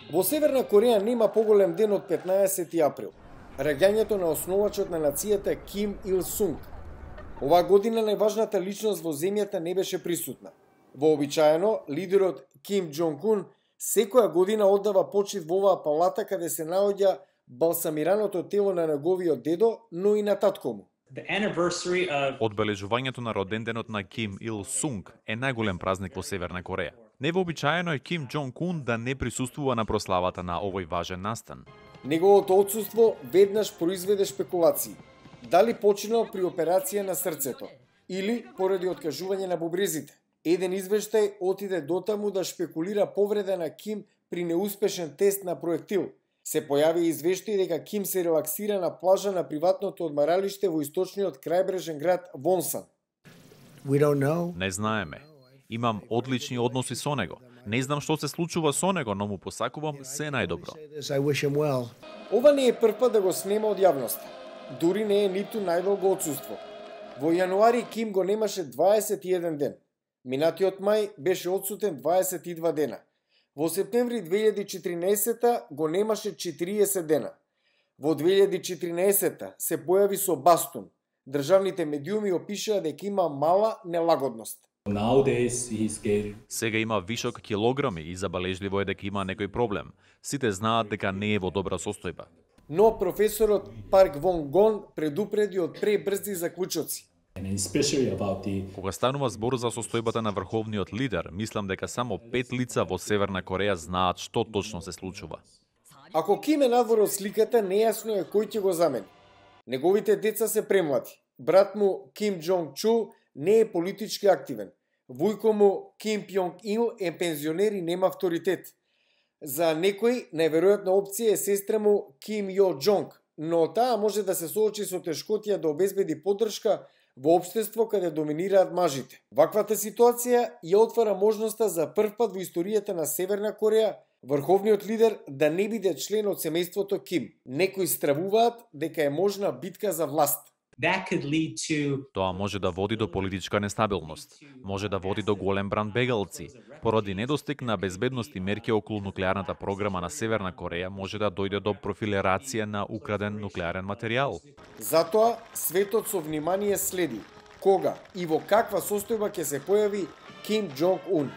Во Северна Кореја нема поголем ден од 15 април, раѓањето на основачот на нацијата Ким Ил Сунг. Оваа година најважната личност во земјата не беше присутна. Вообичаено, лидерот Ким Џонг Ун секоја година оддава почит во оваа палата каде се наоѓа балсамираното тело на неговиот дедо, но и на татко му. Одбележувањето на роденденот на Ким Ил Сунг е најголем празник во Северна Кореја. Невообичаено е Ким Џонг Ун да не присуствува на прославата на овој важен настан. Неговото отсуство веднаш произведе шпекулации. Дали починал при операција на срцето или поради откажување на бубрезите. Еден извештај отиде дотаму да шпекулира повреда на Ким при неуспешен тест на проектил. Се појави извештај дека Ким се релаксира на плажа на приватното одмаралиште во источниот крајбрежен град Вонсан. Не знаеме. Имам одлични односи со него. Не знам што се случува со него, но му посакувам се најдобро. Ова не е првпат да го снема од јавноста. Дури не е ниту најдолго отсуство. Во јануари Ким го немаше 21 ден. Минатиот мај беше отсутен 22 дена. Во септември 2014 го немаше 40 дена. Во 2014 се појави со бастун. Државните медиуми опишаа дека има мала нелагодност. Сега има вишок килограми и забележливо е дека има некој проблем. Сите знаат дека не е во добра состојба. Но професорот Парк Вонг Гон предупреди од пребрзи заклучоци. Кога станува збор за состојбата на врховниот лидер, мислам дека само 5 лица во Северна Кореја знаат што точно се случува. Ако Ким е надвор од сликата, нејасно е кој ќе го замени. Неговите деца се премлади. Брат му Ким Џонг Чул не е политички активен. Вујко му Ким Пјонг Ил е пензионер и нема авторитет. За некој најверојатна опција е сестра му Ким Јо Џонг, но таа може да се соочи со тешкотија да обезбеди поддршка во општество каде доминираат мажите. Ваквата ситуација ја отвара можноста за првпат во историјата на Северна Кореја врховниот лидер да не биде член од семејството Ким. Некои стравуваат дека е можна битка за власт. Тоа може да води до политичка нестабилност, може да води до голем бран бегалци. Поради недостиг на безбедност и мерки околу нуклеарната програма на Северна Кореја може да дојде до профилерација на украден нуклеарен материјал. Затоа светот со внимание следи кога и во каква состојба ќе се појави Ким Џонг Ун.